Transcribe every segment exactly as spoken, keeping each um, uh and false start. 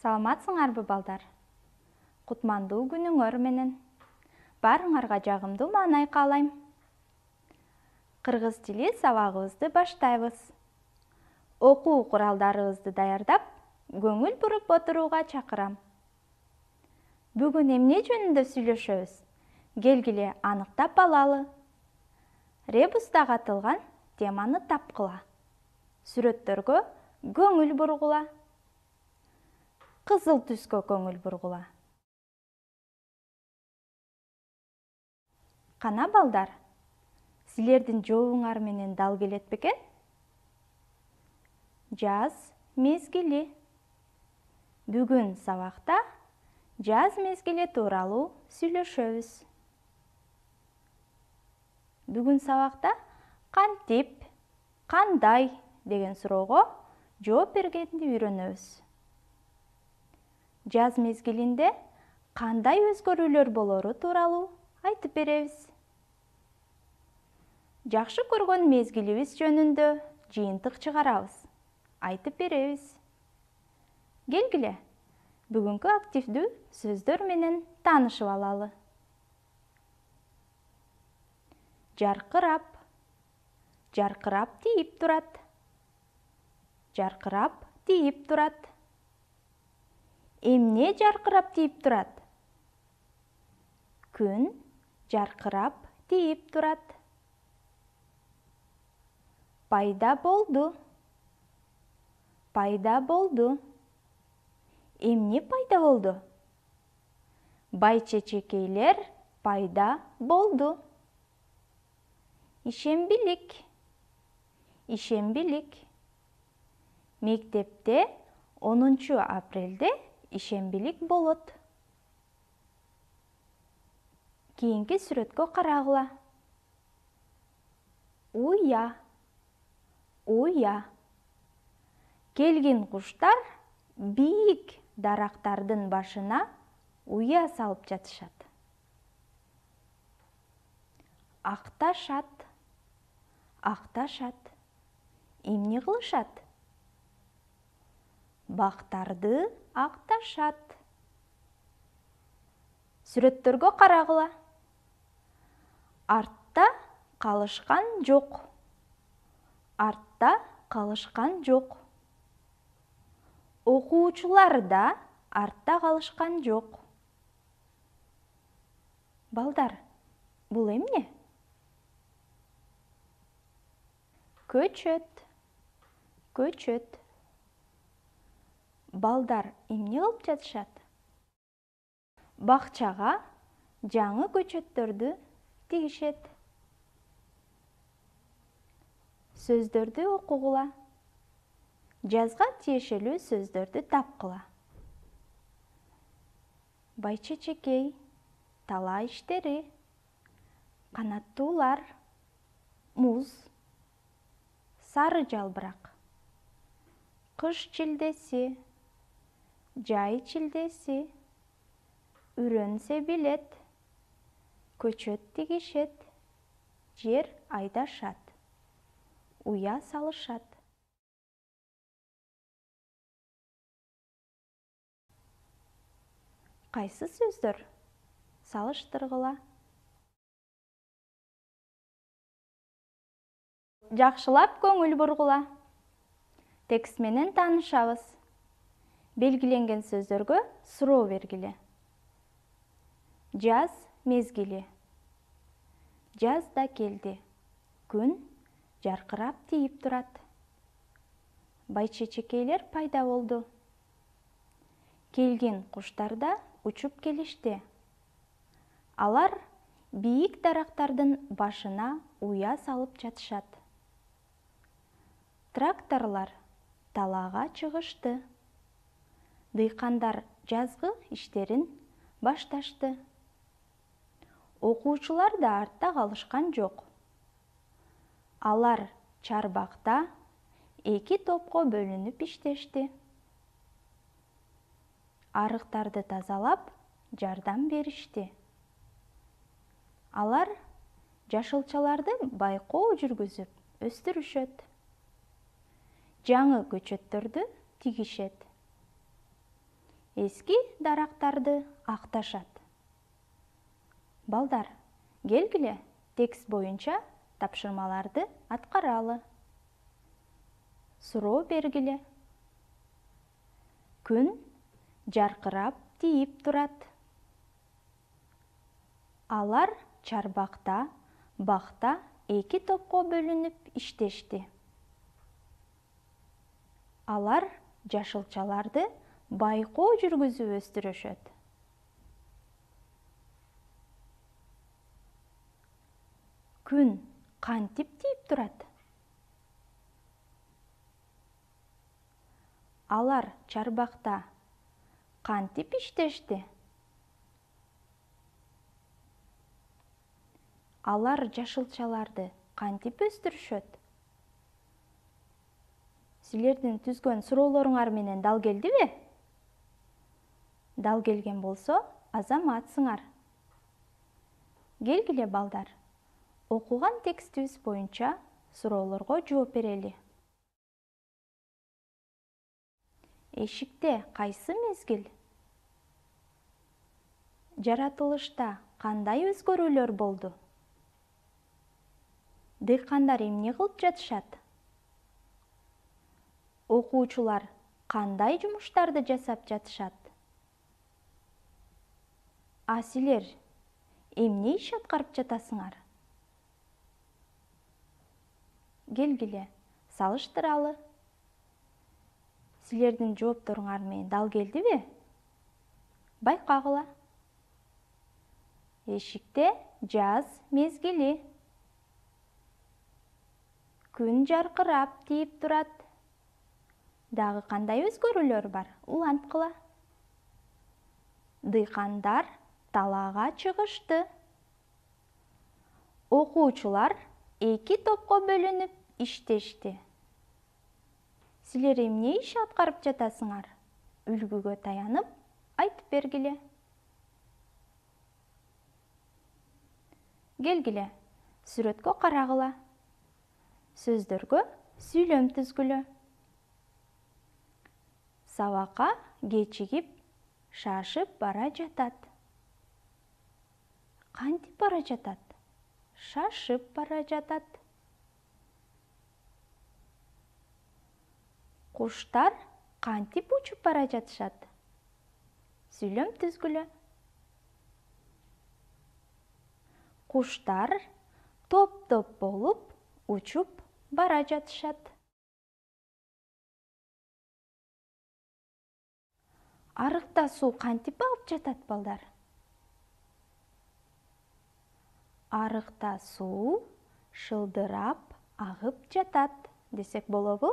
Саламатсыңарбы балдар? Кутмандуу күнүңөр менен. Баарыңарга жагымдуу маанай каалайм. Кыргыз тили сабагыбызды баштайбыз. Окуу куралдарыбызды даярдап, көңүл буруп отурууга чакырам. Бүгүн эмне жөнүндө сүйлөшөбүз? Келгиле аныктап алалы. Ребуста катылган теманы тапкыла. Сүрөттөргө көңүл бургула. Кызыл түскө көңүл бургула. Кана балдар, силердин жообуңар менен дал келет бекен? Жаз мезгили. Бүгүн сабакта жаз мезгили тууралуу сүйлөшөбүз. Бүгүн сабакта кантип, кандай деген суроого жооп бергенди үйрөнөбүз. Жаз мезгилинде кандай өзгөрүүлөр болору тууралуу айтып беребиз. Жакшы көргөн мезгилибиз жөнүндө жыйынтык чыгарабыз, айтып беребиз. Келгиле, бүгүнкү активдүү сөздөр менен таанышып алалы. Жаркырап. Жаркырап тийип турат. Жаркырап тийип турат. Эмне жаркырап тийип турат? Күн жаркырап тийип турат. Пайда болду. Пайда болду. Эмне пайда болду? Бай-чечекейлер пайда болду. Ишембилик. Ишембилик. Мектепте онунчу апрелде ишембилик болот. Кийинки сүрөткө карагыла. Уя. Уя. Келгин куштар бийик дарактардын башына уя салып жатышат. Акташат. Акташат. Эмне кылышат? Бактарды акташат. Сүрөттөргө карагыла. Артта калышкан жок. Артта калышкан жок. Окуучулар да артта калышкан жок. Балдар, бул эмне? Көчөт. Көчөт. Балдар эмне кылып жатышат? Бакчага жаңы көчөттөрдү тигишет. Сөздөрдү окугула. Жазга тиешелүү сөздөрдү тапкыла. Бай-чечекей, тала иштери, канаттуулар, муз, сары жалбырак, кыш чилдеси, жай чилдеси, үрөн себилет, көчөт тигишет, жер айдашат, уя салышат. Кайсы сөздөр? Салыштыргыла. Жакшылап көңүл бургула. Текст менен таанышабыз. Белгиленген сөздөргө суроо бергиле. Жаз мезгили. Жаз да келди. Күн жаркырап тийип турат. Бай-чечекейлер пайда болду. Келгин куштар да учуп келишти. Алар бийик дарактардын башына уя салып жатышат. Тракторлор талаага чыгышты. Дыйкандар жазгы иштерин башташты. Окуучулар да артта калышкан жок. Алар чарбакта эки топко бөлүнүп иштешти. Арыктарды тазалап, жардам беришти. Алар жашылчаларды байкоо жүргүзүп өстүрүшөт. Жаңы көчөттөрдү тигишет. эски дарактарды акташат. Балдар, келгиле текст боюнча тапшырмаларды аткаралы. Суроо бергиле. Күн жаркырап тийип турат. Алар чарбакта, бакта эки топко бөлүнүп иштешти. Алар жашылчаларды байкоо жүргүзүп өстүрүшөт. Күн кантип тийип турат? Алар чарбакта кантип иштешти? Алар жашылчаларды кантип өстүрүшөт? Силердин түзгөн суроолоруңар менен дал келдиби? Дал келген болсо, азаматсыңар. Келгиле балдар, окуган текстибиз боюнча суроолорго жооп берели. Эшикте кайсы мезгил? Жаратылышта кандай өзгөрүүлөр болду? Дыйкандар эмне кылып жатышат? Окуучулар кандай жумуштарды жасап жатышат? А силер эмне иш аткарып жатасыңар? Келгиле, салыштыралы. Силердин жоопторуңар менен дал келдиби? Байкагыла. Эшикте жаз мезгили. Күн жаркырап тийип турат. Дагы кандай өзгөрүүлөр бар? Уланткыла. Дыйкандар талаага чыгышты. Окуучулар эки топко бөлүнүп иштешти. Силер эмне иш аткарып жатасыңар? Үлгүгө таянып, айтып бергиле. Келгиле, сүрөткө карагыла. Сөздөргө сүйлөм түзгүлө. Сабакка кечигип, шашып бара жатат. Кантип бара жатат? Шашып бара жатат. Куштар кантип учуп бара жатышат? Сүйлөм түзгүлө. Куштар топ-топ болуп учуп бара жатышат. Арыкта суу кантип агып жатат, балдар? Арыкта суу шылдырап агып жатат десек болобу?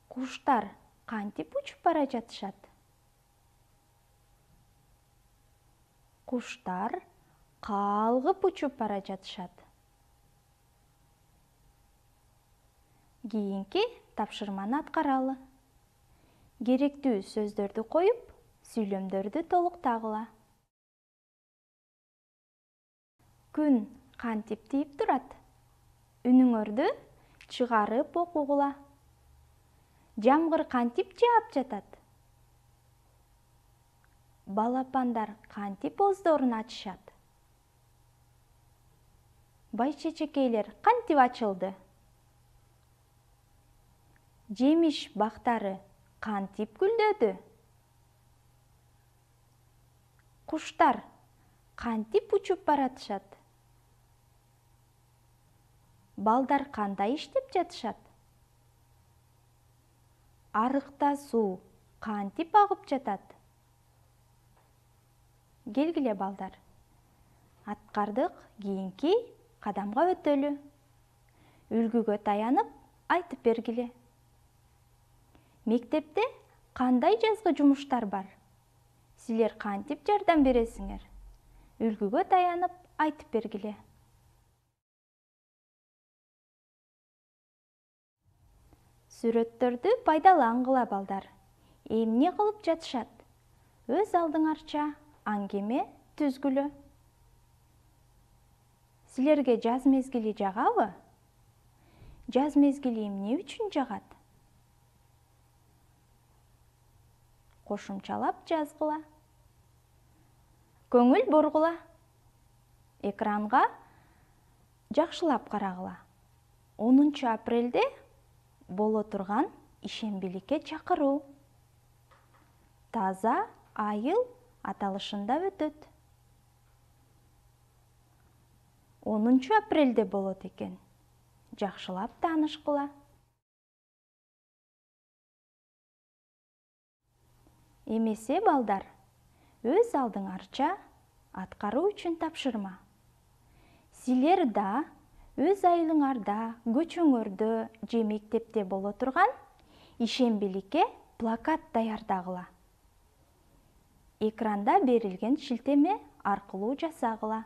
Куштар кантип учуп бара жатышат? Куштар калгып учуп бара жатышат. Кийинки тапшырманы аткаралы. Керектүү сөздөрдү коюп, сүйлөмдөрдү толуктагыла. Күн кантип тийип турат? Үнүңөрдү чыгарып окугула. Жамгыр кантип жаап жатат? Балапандар кантип оздорун ачышат? Бай-чечекейлер кантип ачылды? Жемиш бактары кантип гүлдөдү? Куштар кантип учуп баратышат? Балдар кандай иштеп жатышат? Арыкта суу кантип агып жатат? Келгиле балдар, аткардык, кийинки кадамга өтөлү. Үлгүгө таянып, айтып бергиле. Мектепте кандай жазгы жумуштар бар? Силер кантип жардам бересиңер? Үлгүгө таянып, айтып бергиле. Сүрөттөрдү пайдалангыла, балдар. Эмне кылып жатышат? Өз алдыңарча аңгеме түзгүлө. Силерге жаз мезгили жагабы? Жаз мезгили эмне үчүн жагат? кошумчалап жазгыла. Көңүл бургула. Экранга жакшылап карагыла. онунчу апрелде боло турган ишембиликке чакыруу. Таза айыл аталышында өтөт. онунчу апрелде болот экен. Жакшылап таанышкыла. Эмесе балдар, өз алдыңарча аткаруу үчүн тапшырма. Силер да өз айылыңарда, көчөңөрдө же мектепте боло турган ишембиликке плакат даярдагыла. Экранда берилген шилтеме аркылуу жасагыла.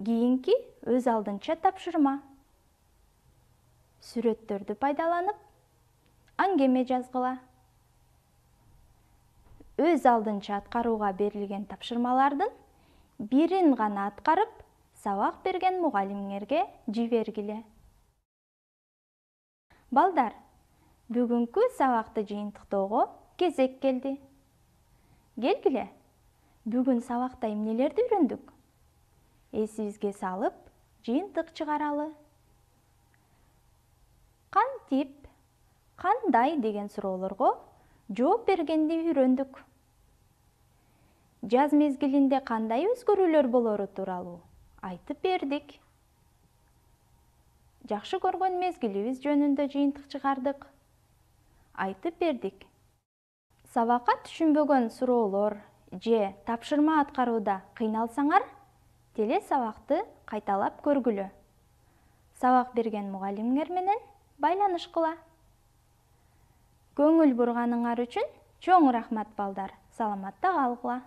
Кийинки өз алдынча тапшырма. Сүрөттөрдү пайдаланып, аңгеме жазгыла. Өз алдынча аткарууга берилген тапшырмалардын бирин гана аткарып, сабак берген мугалимиңерге жибергиле. Балдар, бүгүнкү сабакты жыйынтыктоого кезек келди. Келгиле, бүгүн сабакта эмнелерди үйрөндүк? Эсибизге салып, жыйынтык чыгаралы. Кантип, кандай деген суроолорго жооп бергенди үйрөндүк. Жаз мезгилинде кандай өзгөрүүлөр болору тууралуу айтып бердик. Жакшы көргөн мезгилибиз жөнүндө жыйынтык чыгардык. Айтып бердик. Сабакка түшүнбөгөн суроолор же тапшырма аткарууда кыйналсаңар, теле сабакты кайталап көргүлө. Сабак берген мугалимиңер менен байланышкыла. Көңүл бурганыңар үчүн чоң рахмат балдар. Саламатта калгыла.